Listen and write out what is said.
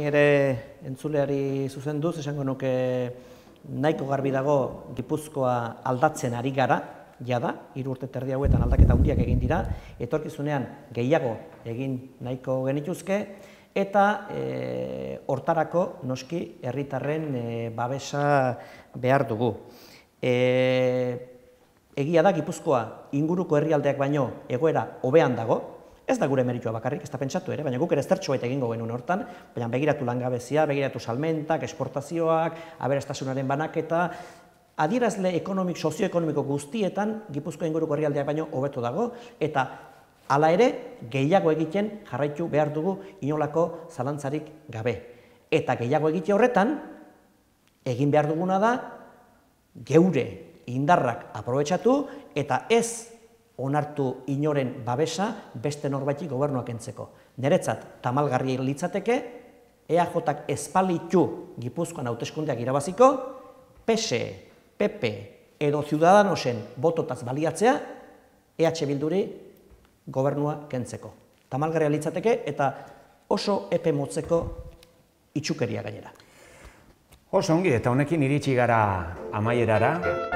ere entzuleari zuzenduz, esango nuke nahiko garbi dago Gipuzkoa aldatzen ari gara, jada, 3 urte terdi hauetan aldaketa handiak egin dira, etorkizunean gehiago egin nahiko genituzke, eta hortarako noski herritarren babesa behar dugu. Egia da Gipuzkoa inguruko herrialdeak baino egoera hobean dago, ez da gure meritua bakarrik, ez da pentsatu ere, baina guk ere zertxo baita egingo genuen hortan, baina begiratu langabezia, begiratu salmentak, esportazioak, aberastasunaren banaketa, adierazle ekonomik, sozioekonomiko guztietan Gipuzkoa inguruko herrialdeak baino hobeto dago, eta hala ere gehiago egiten jarraitu behar dugu inolako zalantzarik gabe. Eta gehiago egite horretan, egin behar duguna da, geure indarrak aprobetxatu eta ez onartu inoren babesa beste norbaiti gobernua kentzeko. Niretzat tamalgarri litzateke, EAJak espalitu Gipuzkoan hauteskundeak irabaziko, PSE, PP edo Ciudadanosen bototaz baliatzea, EH Bilduri gobernua kentzeko. Tamalgarria litzateke eta oso epe motzeko itxukeria gainera. Oso ongi, eta honekin iritsi gara amaierara.